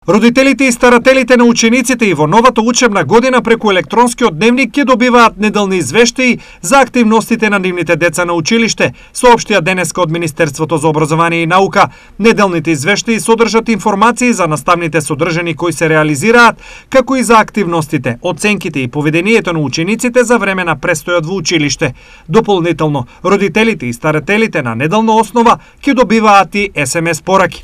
Родителите и старателите на учениците и во новата учебна година преку електронскиот дневник ќе добиваат неделни извештаи за активностите на нивните деца на училиште, соопштија денеска од Министерството за образование и наука. Неделните извештаи содржат информации за наставните содржини кои се реализираат, како и за активностите, оценките и поведението на учениците за време на престојот во училиште. Дополнително, родителите и старателите на неделна основа ќе добиваат и SMS пораки.